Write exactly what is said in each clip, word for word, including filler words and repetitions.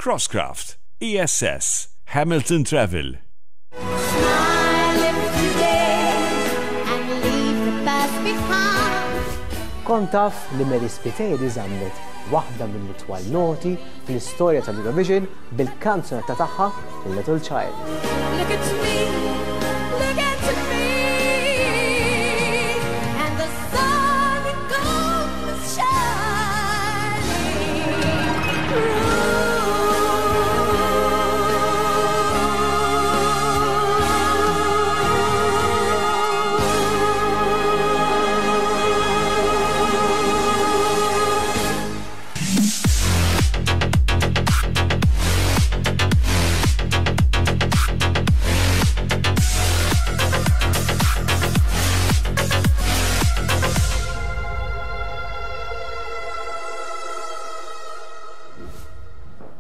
Crosscraft, E S S, Hamilton Travel. Smile today and leave the past behind. Kont taf li Mary Spiteri żammet waħda mill-itwal noti fl-istorja tal-Eurovision bil-kanzunetta tagħha Little Child? Look at me, look at me, and the sun comes shining through.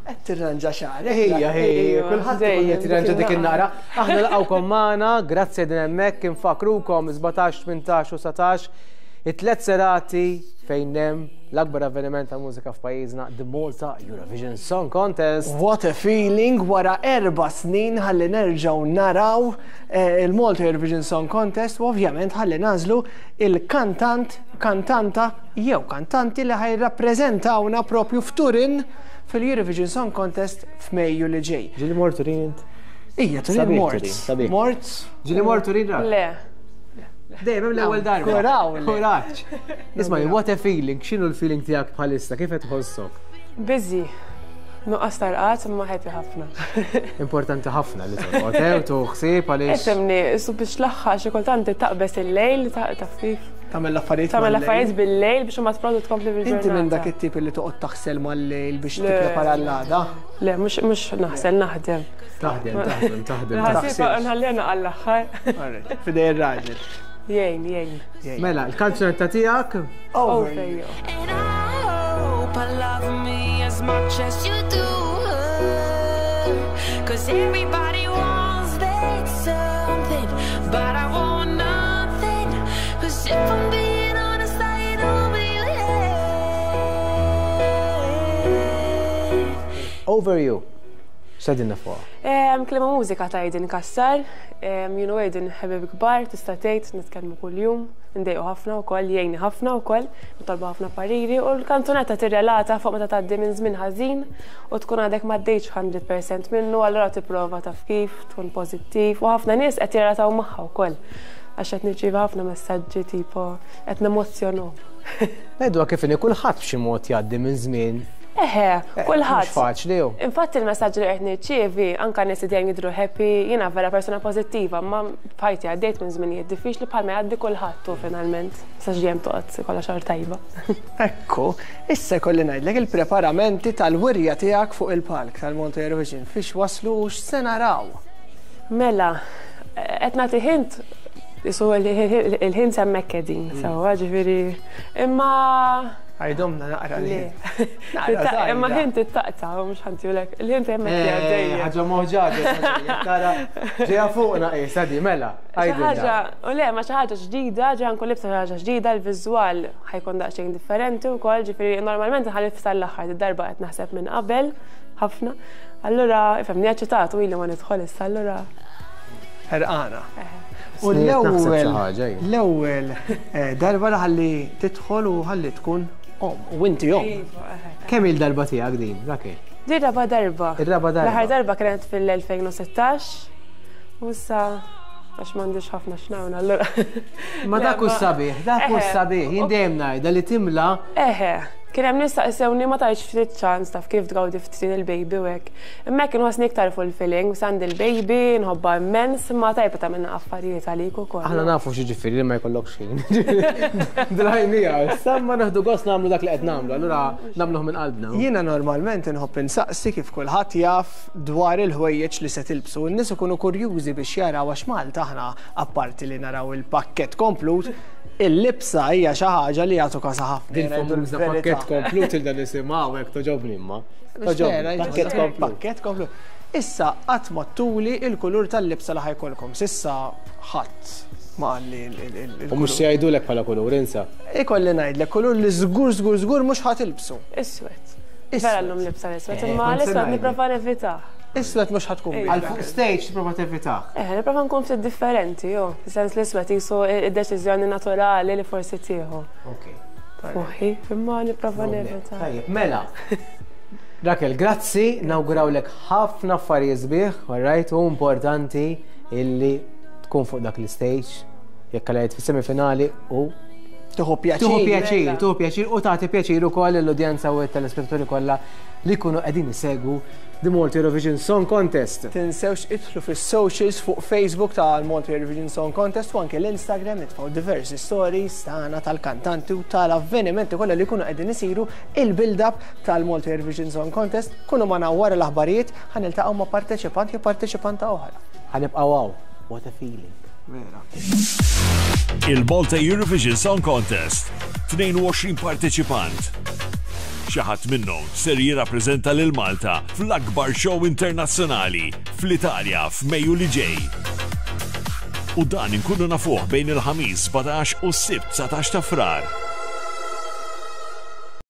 Qed tirranġa xagħrek. Ejja, ejja, kulħadd ikun qed jirranġa dik in-naqra. Aħna nilqgħukom magħna, grazzi din hemmhekk, infakrukom sbatax, tmintax u dsatax, it-tliet serati fejn hemm l-akbar avveniment ta' mużika f'pajjiżna, The Malta Eurovision Song Contest. What a feeling wara erba' snin ħalli nerġgħu naraw eh, il-Malta Eurovision Song Contest u ovvjament ħalli nagħżlu il-kantant, kantanta jew kantanti li ħa jirrappreżentawna propju f'Turin fil-Eurovision Song Contest f'Mejju li ġej. Ġieli mort Turin int? Ija, Turin Sabiħ mort. Turin, sabiħ. Mort. Ġieli mort Turin ra? Le. Dejjem hemm l-ewwel darba. Kuraw, le. Kuraġġ. Isma', what a feeling, x'inhu l-feeling tiegħek bħalissa, kif qed tħossok? Busy. Nuqqas ta' rqad imma happy ħafna. Importanti ħafna li torqod, eh, u tuħsib għaliex. Ifhimni, su biex l-aħħar xi kultant taqbes il-lejl, taf kif. Tagħmel l-affarijiet Tagħmel mal-lejl. l-affarijiet bil-lejl biex ma tprodu tkompli bil-ġurnata. Inti minn dak it-tip li toqgħod taħsel mal-lejl biex Le. tipprepara l-għada. Le, mhux mhux naħsel, naħdem. Taħdem, taħdem, taħdem. Ħasiba nħallina għall-aħħar. Alright, f'idej ir-raġel. Jgħin, jgħin. Mela, il-kanzunetta tiegħek? Over. Over you. And I hope I love me as much as you do her. 'Cause everybody wants that something, but I want nothing. 'Cause if I'm being honest, I ain't over you yet. Over You. X'tgħidilna fuqha? Em, Kliem u mużika ta' Aiden Cassar, jien u Aiden ħbieb kbar, tista' tgħid nitkellmu kuljum, ndejqu ħafna wkoll, jgħinni ħafna wkoll, nitolbu ħafna pariri u l-kanzunetta tirrelata fuq meta tgħaddi minn żmien ħażin u tkun għadek m'għaddejtx mija fil-mija minnu, allura tipprova taf kif, tkun pożittiv u ħafna nies qed jirrelataw magħha wkoll għax qed nirċievi ħafna messaġġi tipo qed nemozzjonaw. Ngħidu kif inhi, kulħadd b'xi mod jgħaddi minn żmien. Eħe, Eh, kulħadd. Mhux faċli hu. Infatti il-messaġġ li qed nirċievi, anka nies li dejjem jidhru happy, jiena vera persona pożittiva, ma f'ħajti għaddejt minn żminijiet diffiċli bħalma jgħaddi kulħadd u finalment sa ġejjem toqgħod kollha xahar tajba. Ekku, issa kolli ngħidlek il-preparamenti tal-wirja tiegħek fuq il-palk tal-Malta Eurovision fiex waslu u x'se naraw. Mela, qed nagħti hint isu il-hint hemmhekk qegħdin, sewwa ġifieri. Imma Għidilna naqra li. le. Naqra Imma żgħira. hint it-taqta, u mhux ħantulek. Il-hint hemmhekk Eh, għaddejja. ħaġa moħġaġa, tara, ġeja fuqna qisha di, mela. Xi ħaġa, Għidilna. u le, ma xi ħaġa ġdida, ġa nkun libsa xi ħaġa ġdida, il-viżwal ħa jkun daqsxejn differenti wkoll, ġifieri normalment nħalli l-aħħar, id-darba qed naħseb minn qabel ħafna. Allura, ifhimni, eċċitat u ili ma nidħol issa, allura. Ħerqana. U Sniet naħseb xi l-ewwel ħaġa jien. l-ewwel eh, darba li ħalli tidħol u ħalli tkun om u inti om. Iva, eħe. Kemm il-darba tiegħek din, Rakel? Di raba darba. Ir-raba darba. L-aħħar darba kienet fil-elfejn u sittax u issa għax m'għandix ħafna x'nagħmel allura. Ma Le, dak hu ma- sabiħ, dak hu Eħe. sabiħ, jien dejjem ngħidha li timla. Eħe, kien hemm nies saqsewni ma tajtx ftit ċans taf kif tgawdi ftit il-baby u hekk. Imma hekk inħossni iktar fulfilling, għandi il-baby, nħobbha immens, imma tajba tagħmilna affarijiet għalik ukoll. Aħna nafu x'jiġifieri li ma jkollokx ħin. Drajnija, issa ma naħdu gost nagħmlu dak li qed nagħmlu, allura nagħmluh minn qalbna. Jiena normalment inħobb insaqsi kif kulħadd jaf dwar il-ħwejjeġ li se tilbsu. N-nies ikunu kurjużi biex jaraw għax Malta aħna apparti li naraw il-pakkett komplut, il-libsa hija xi ħaġa li jagħtu kasa ħafna. Din Ngħidu famuża l-verità. pakkett komplut il dan nisimgħu hekk toġobni imma. Toġobni, pakkett komplut. Pakkett komplut. Issa qatt ma tuli il-kulur tal-libsa li ħa jkollkom. S'issa ħadd ma qalli il- U mhux se jgħidulek bħala kulur, insa. Ikolli ngħidlek kulur li żgur żgur żgur mhux ħa tilbsu. Iswed. Vera llum libsa l-iswed, Eh, imma kont se l-iswed ngħidlek. nipprova nevitah. Iswed mhux ħa tkun. Għal fuq stage tipprova tevitah. Eh, nipprova nkun ftit differenti, jo. Sens l-iswed jisu id-deċiżjoni naturali li forsi tieħu. Ok. Moħħi, imma nipprova nevitah. Tajjeb, mela. Rakel, grazzi, nawgurawlek ħafna affarijiet sbieħ, alright, u importanti illi tkun fuq dak l-stage, jekk għalajt fis-semifinali u Tieħu pjaċir. Tieħu pjaċir, tieħu pjaċir u tagħti pjaċir ukoll l-udjenza u t-telespettaturi kollha li jkunu qegħdin isegwu The Malta Eurovision Song Contest. Tinsewx idħlu fis-socials fuq Facebook tal-Malta Eurovision Song Contest u anke l-Instagram nitfgħu diversi stories tagħna, tal-kantanti u tal-avvenimenti kollha li jkunu qegħdin isiru, il-build-up tal-Malta Eurovision Song Contest. Kunu magħna wara l-aħbarijiet, ħa niltaqgħu ma' parteċipant jew parteċipanta oħra. Ħa nibqgħu hawn. What a feeling. Vera. Il-Malta Eurovision Song Contest. tnejn u għoxrin parteċipant. Xi ħadd minnhom ser jirrappreżenta lil Malta fl-akbar show internazzjonali fl-Italja f'Mejju li ġej. U dan inkunu nafuh bejn il-Ħamis sbatax u s-Sibt dsatax ta' Frar.